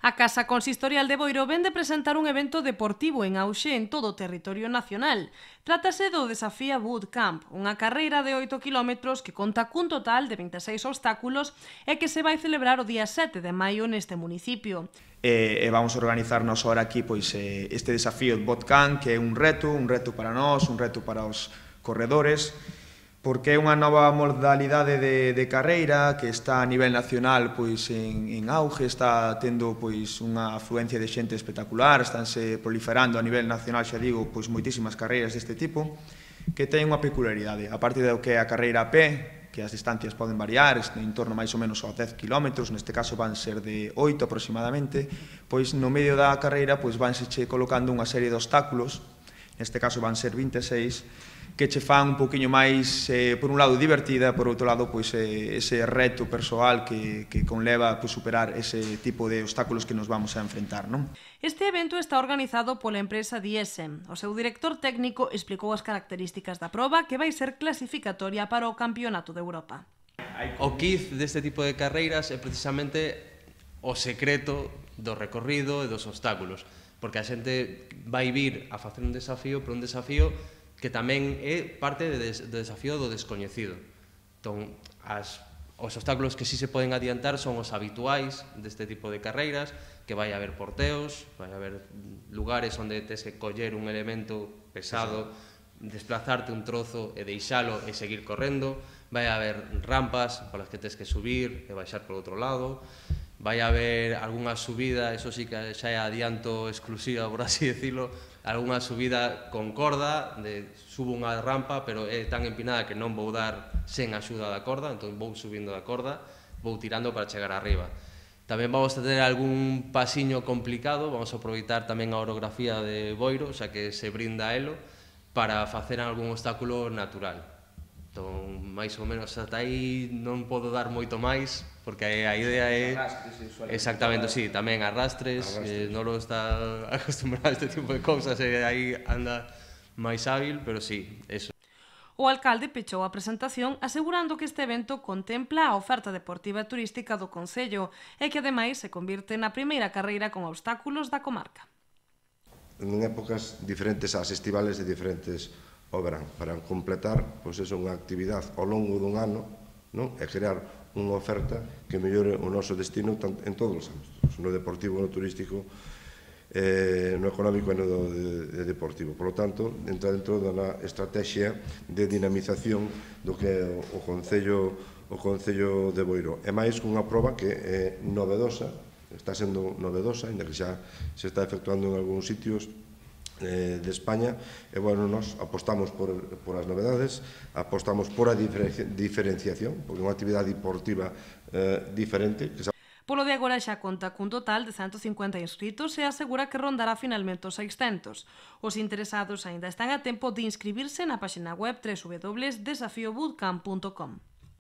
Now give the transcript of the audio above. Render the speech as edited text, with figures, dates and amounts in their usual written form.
A Casa Consistorial de Boiro vén de presentar un evento deportivo en auxe en todo o territorio nacional. Trátase do Desafía Bootcamp, unha carreira de 8 km que conta cun total de 26 obstáculos e que se vai celebrar o día 7 de maio neste municipio. E vamos a organizarnos ahora aquí este desafío de Bootcamp, que é un reto para nós, un reto para os corredores, porque é unha nova modalidade de carreira que está a nivel nacional en auge, está tendo unha afluencia de xente espectacular, estánse proliferando a nivel nacional, xa digo, moitísimas carreiras deste tipo, que ten unha peculiaridade. A parte do que é a carreira a pé, que as distancias poden variar, en torno máis ou menos aos 10 km, neste caso van ser de 8 aproximadamente, no medio da carreira vanse colocando unha serie de obstáculos, neste caso van ser 26, que che fan un poquinho máis, por un lado, divertida, por outro lado, ese reto persoal que conleva superar ese tipo de obstáculos que nos vamos a enfrentar, non? Este evento está organizado pola empresa Diesem. O seu director técnico explicou as características da proba que vai ser clasificatoria para o Campeonato de Europa. O quiz deste tipo de carreiras é precisamente o secreto do recorrido e dos obstáculos, porque a xente vai vir a facer un desafío, pero un desafío que tamén é parte do desafío do descoñecido. Entón, os obstáculos que sí se poden adiantar son os habituais deste tipo de carreiras, que vai haber porteos, vai haber lugares onde tes que coller un elemento pesado, desplazarte un trozo e deixalo e seguir correndo, vai haber rampas polas que tes que subir e baixar por outro lado, vai haber algunha subida, eso sí que xa é adianto exclusiva, por así decirlo, algunha subida con corda, subo unha rampa, pero é tan empinada que non vou dar sen axuda da corda, entón vou subindo da corda, vou tirando para chegar arriba. Tamén vamos a ter algún pasiño complicado, vamos a aproveitar tamén a orografía de Boiro, xa que se brinda a elo, para facer algún obstáculo natural. Entón, máis ou menos, ata aí non podo dar moito máis, porque a idea é... Exactamente, sí, tamén arrastres, non lo está acostumbrado a este tipo de cousas, e aí anda máis hábil, pero sí, eso. O alcalde pechou a presentación asegurando que este evento contempla a oferta deportiva e turística do concello e que ademais se convirte na primeira carreira con obstáculos da comarca. En épocas diferentes ás estivales e diferentes ao verán, para completar unha actividade ao longo dun ano e crear unha oferta que mellore o noso destino en todos os ámbitos, no deportivo, no turístico, no económico e no deportivo. Por lo tanto, entra dentro da estrategia de dinamización do que é o Concello de Boiro. É máis unha proba que é novedosa, está sendo novedosa, ainda que xa se está efectuando en algúns sitios de España, e, nos apostamos por as novedades, apostamos por a diferenciación, porque é unha actividade deportiva diferente. Polo de agora xa conta cun total de 150 inscritos e asegura que rondará finalmente os 600. Os interesados aínda están a tempo de inscribirse na página web www.desafiobootcamp.com.